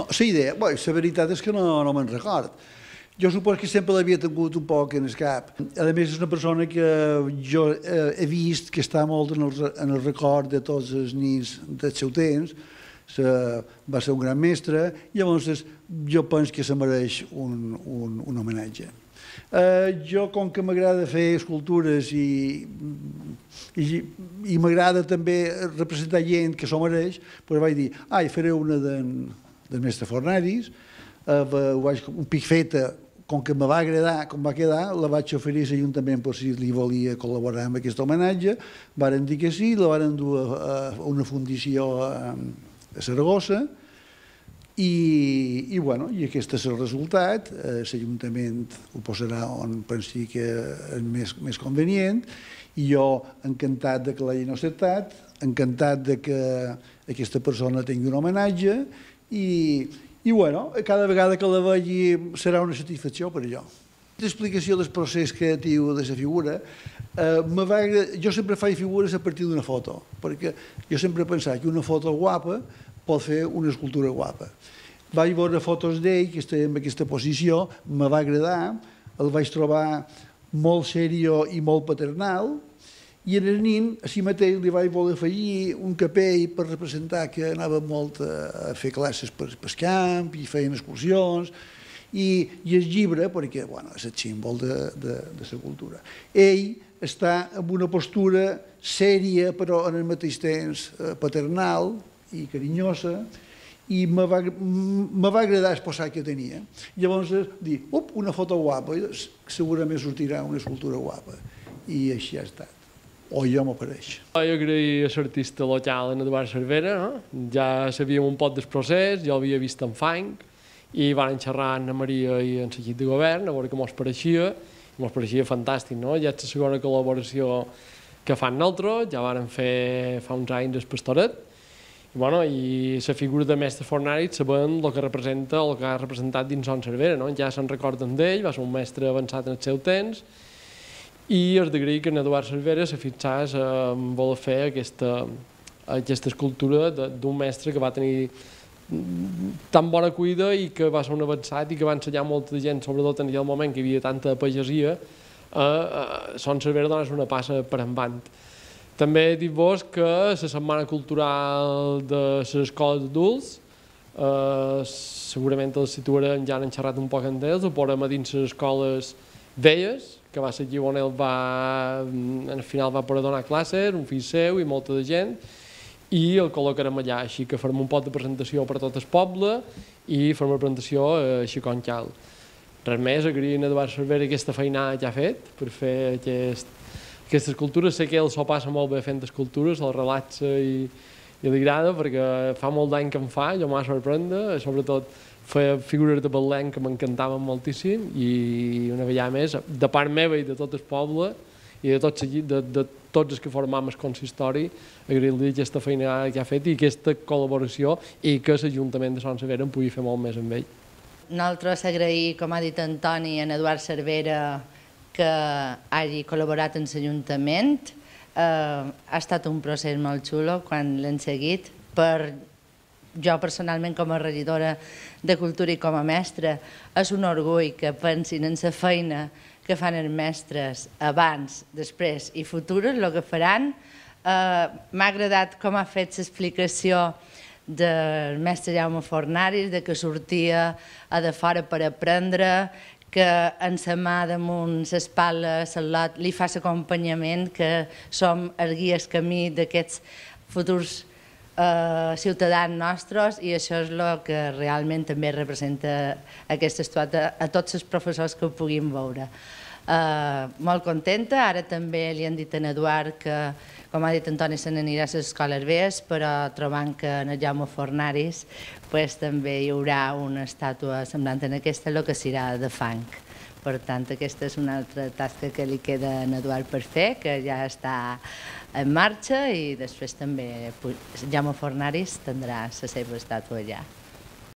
la idea, la veritat és que no me'n record. Jo suposo que sempre l'havia tingut un poc en el cap. A més, és una persona que jo he vist que està molt en el record de tots els nins del seu temps. Va ser un gran mestre i llavors jo penso que se mereix un homenatge. Jo, com que m'agrada fer escultures i m'agrada també representar gent que s'ho mereix, doncs vaig dir, faré una del mestre Fornaris, un pic feta, com que me va agradar, com va quedar, la vaig oferir a l'Ajuntament per si li volia col·laborar amb aquest homenatge, varen dir que sí, la varen dur a una fundició a Saragossa i aquest és el resultat. L'Ajuntament ho posarà on pensi que és més convenient i jo encantat que l'hagin acceptat, encantat que aquesta persona tingui un homenatge i cada vegada que la vegi serà una satisfacció per a jo. L'explicació del procés creatiu de la figura, jo sempre faig figures a partir d'una foto, perquè jo sempre he pensat que una foto guapa pot fer una escultura guapa. Vaig veure fotos d'ell, que estava en aquesta posició, me va agradar, el vaig trobar molt seriós i molt paternal, i en el nin, a si mateix, li vaig voler afegir un capell per representar que anava molt a fer classes pel camp i feien excursions, i el llibre, perquè és el símbol de la cultura. Ell està en una postura sèria, però al mateix temps paternal i carinyosa, i me va agradar exposar que tenia. Llavors, dir, una foto guapa, segurament sortirà una escultura guapa. I així ha estat. O jo m'apareix. Jo agraïa a l'artista local, en Eduard Cervera, ja sabíem un poc del procés, jo l'havia vist en fang, i van xerrar amb Maria i en l'equip de govern, a veure què mos pareixia fantàstic, no? Ja és la segona col·laboració que fan nosaltres, ja vàrem fer fa uns anys el Pastoret, i la figura de mestre Fornaris sabem el que representa, el que ha representat dins Son Cervera, ja se'n recorden d'ell, va ser un mestre avançat en el seu temps, i és d'agrair que en Eduard Cervera se fixés en voler fer aquesta escultura d'un mestre que va tenir tan bona cuida i que va ser un avançat i que va ensenyar molta gent, sobretot en aquell moment que hi havia tanta pagesia, a Son Cervera donés una passa per endavant. També dir-vos que la Setmana Cultural de les Escoles d'Adults, segurament els situarem, ja han xerrat un poc amb ells, ho posarem a dins les escoles velles, que va ser aquí on ell al final va poder donar classes, un fill seu i molta de gent, i el col·locarem allà, així que farem un pot de presentació per a tot el poble i farem una presentació així com cal. Res més, agrair a Eduard Cervera aquesta feinada que ha fet per fer aquesta escultura. Sé que ell s'ho passa molt bé fent escultures, el relaxa i li agrada, perquè fa molt d'any que em fa, jo m'ha sorprendre, sobretot feia figures de Betlem que m'encantaven moltíssim i una vegada més, de part meva i de tot el poble i de tots els que formam el consistori, agrair-li aquesta feina que ha fet i aquesta col·laboració i que l'Ajuntament de Son Cervera en pugui fer molt més amb ell. Nosaltres agrair, com ha dit Antoni, a Eduard Cervera que hagi col·laborat amb l'Ajuntament. Ha estat un procés molt xulo quan l'hem seguit. Per jo personalment com a regidora de Cultura i com a mestra és un orgull que pensin en la feina que fan els mestres abans, després i futures, el que faran. M'ha agradat com ha fet l'explicació del mestre Jaume Fornaris, que sortia a de fora per aprendre, que en sa mà damunt l'espatlla li fa l'acompanyament, que som els guies camí d'aquests futurs ciutadans nostres, i això és el que realment també representa aquesta estàtua a tots els professors que ho puguin veure. Molt contenta, ara també li han dit a Eduard que, com ha dit Antoni, se n'anirà a les escoles velles, però trobant que en el Jaume Fornaris també hi haurà una estàtua semblant en aquesta, el que serà de fang. Per tant, aquesta és una altra tasca que li queda a Eduard per fer, que ja està en marxa, i després també Jaume Fornaris tindrà la seva estàtua allà.